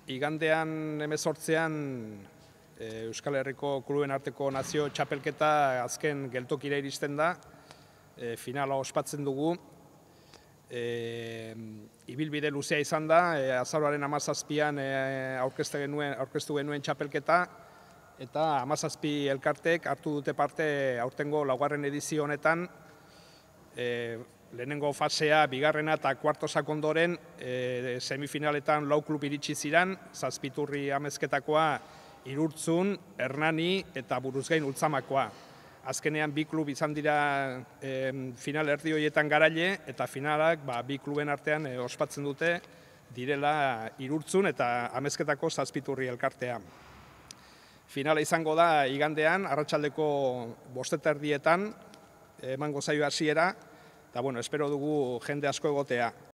Igandean 18an Euskal Herriko kluben arteko nazio txapelketa azken geltokira iristen da. Finala ospatzen dugu. Ibilbide luzea izan da, azaroaren 17an aurkeztu genuen txapelketa, eta 17 elkartek hartu dute parte aurtengo laugarren edizio honetan. Lehenengo fasea, bigarrena eta kuartosak ondoren, semifinaletan 4 klub iritsi ziren, Zazpiturri Amezketakoa, Irurtzun, Hernani eta Buruzgain Ultzamakoa. Azkenean 2 klub izan dira final erdi horietan garaile, eta finalak 2 kluben artean ospatzen dute direla Irurtzun eta Amezketako Zazpiturri elkartea. Finala izango da igandean, arratsaldeko 5:30 emango zaio hasiera, eta espero dugu jende asko egotea.